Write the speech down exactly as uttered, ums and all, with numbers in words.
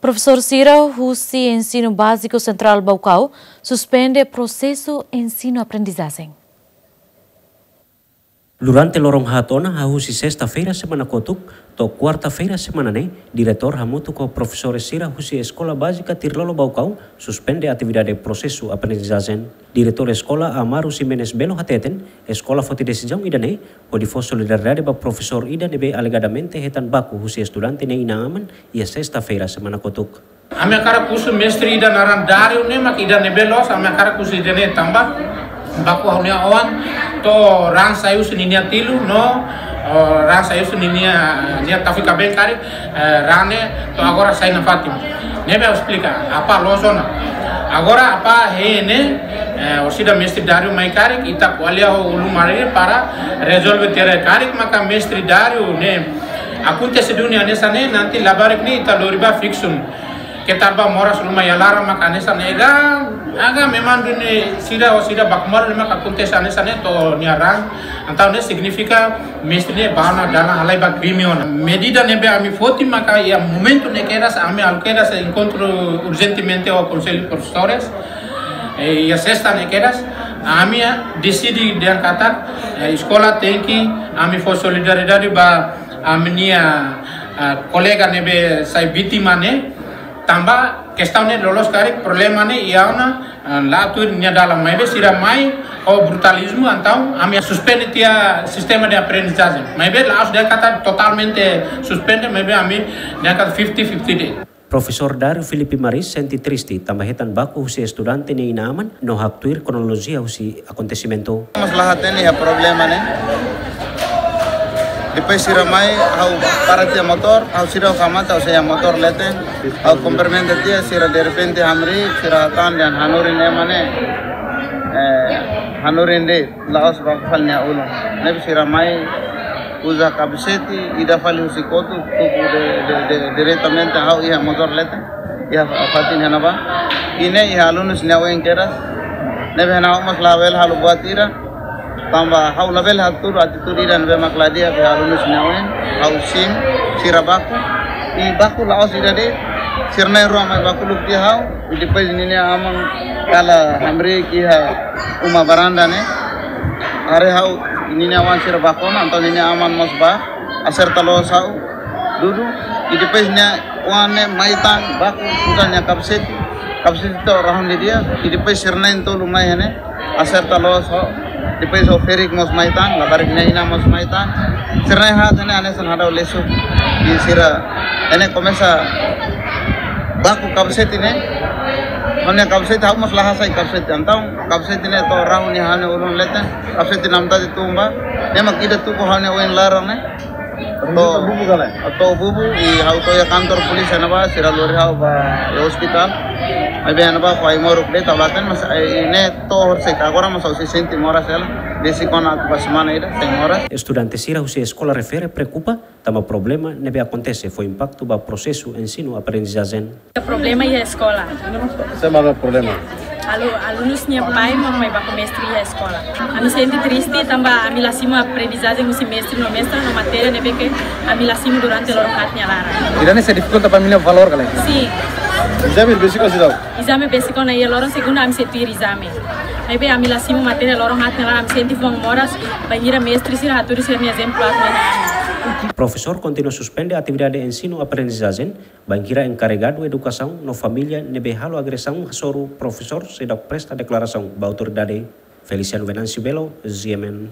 Profesór sira husi Ensinu Báziku Sentrál Baucau suspende prosesu ensinu-aprendizajen. Durante loron haat ona, hahú husi sesta-feira semana kotuk to'o kuarta-feira semana ne'e, diretór hamutuk ho profesór sira husi Eskola Bázika Tirlolo Baucau suspende atividade prosesu aprendizajen. Diretór eskola, Amaro Ximenes Belo, hateten eskola foti desizaun ida-ne'e hodi fó solidariedade ba profesór ida ne'ebé alegadamente hetan baku husi estudante nia inan-aman iha sesta-feira semana kotuk. Ami hakarak husu mestre ida naran Dario ne'e, mak ida ne'ebé loos, ami hakarak husu ida-ne'e tanba baku ha'u-nia oan to'o raan sai husi ninia tilu no, oh, raan sai husi ninia, nia tafi kaben karik, eh, raan ne'e to'o agora sai nafatin. Ne'ebé ha'u esplika, apá loos ona. Agora apá hein ne'e, eh, orsida mestre Dario mai karik, ita ko'alia ho ulun-marin para rezolve tiha. Karik maka mestre Dario ne'e akontese duni hanesan ne'e, nanti labarik ne'e ita lori ba fiksaun. Keta ba moras ruma iha laran maka hanesan ne'e, agá, agá memang duni sira, orsida baku malu ne'e maka akontese hanesan ne'e to'o nia raan. Entaun ne'e signifika mestre ne'e bá ona dalan halai ba krime ona. Medida ne'ebé ami foti maka iha momentu ne'e kedas, ami halo kedas enkontru urjentemente ho Konsellu Profesores. Eh, iha sesta ne'e kedas, ami, ah, deside dehan katak, eh, eskola tenke, ami fó solidariedade ba ami-nia, ah, kolega ne'ebé sai vítima ne'e, tanba kestaun ne'e loloos karik, problema ne'e iha ona, ah, la tuir nia dalan, maibé sira mai ho brutalizmu, entaun ami suspende tiha sistema de aprendizajen. Maibé la'ós dehan katak totalmente suspende, maibé ami dehan katak fifty fifty de'it. Profesór Dario Filipe Maris sente triste tanba hetan baku husi estudante nia inan-aman no haktuir kronolojia husi akontesimentu. Mós la hatene iha problema ne'e. Depois sira mai, ha'u para tiha motór, ha'u seidauk hamate, ha'u sei iha motór leten. Ha'u kumprimenta tiha, sira derrepente hamriik, sira hatán dehan hanorin ema ne'e, eh, hanorin de'it, la'ós baku fali nia ulun. Ne'ebé sira mai uza kapasete, ida fali husi kotuk, tuku de, de, de, diretamente ha'u iha motór leten. Iha fatin iha ne'ebá. I ne'e iha alunus nia oin kedas. Ne'ebé ha'u mós labele halo buat ida. Tanba ha'u labele hatudu atitude ida ne'ebé mak la di'ak iha alunus nia oin. Ha'u simu, sira baku. I baku la'ós ida de'it. Sira na'in-rua mai baku luk tiha ha'u. I depois ninia aman kala hamriik iha uma baranda ne'e. Haree ha'u ninia oan sira baku ona, entaun ninia aman mós bá, aserta loos ha'u dudu, i depois nia oan ne'e mai tan, baku, uza nia kapasete, kapasete to'o rahun didi'ak, i depois sira na'in-tolu mai iha ne'e, aserta loos ha'u, depois ha'u ferik mós mai tan, labarik nia inan mós mai tan, sira na'in-haat iha ne'e hanesan hadau lesu, i sira, iha ne'e komesa baku kapasete ne'e, ha'u-nia kapasete, ha'u mós la hasai kapasete, entaun kapasete ne'e to'o rahun iha ha'u-nia ulun leten, kapasete namtati tun bá, ne'e mak ida tuku ha'u-nia oin laran ne'e. To'o bubu kala? To'o bubu, i ha'u to'o iha kantor polísia ne'ebá, sira lori ha'u bá iha ospitál. Maibé ne'ebá fó ai-moruk de'it, tau leten, mas, eh, i ne'e to'o horisehik agora mós ha'u sei sente moras hela. Besik ona atu bá semana ida, sei moras. Estudante sira husi eskola refere preokupa tanba problema ne'ebé akontese fó impaktu ba prosesu ensinu-aprendizajen. Problema iha eskola. Sé mak problema? Alu-, alunus nia pai mak mai baku mestre iha eskola. Ami sente triste tanba ami la simu aprendizajen husi mestre no mestra no matéria ne'ebé ke ami la simu durante loron haat nia laran. Ida-ne'e sei difikulta ba ami-nia valór kala? Sin. Ezame besik ona seidauk? Ezame besik ona iha loron segunda ami sei tuir ezame. Maibé ami la simu matéria loron haat nia laran, ami sente fuan moras, bainhira mestre sira hatudu sira-nia ezemplu atu mai. Profesór kontinua suspende atividade ensinu-aprendizajen, bainhira enkarregadu edukasaun no família ne'ebé halo agresaun hasoru profesór seidauk presta deklarasaun ba autoridade. Feliciano Venâncio Belo, G M N.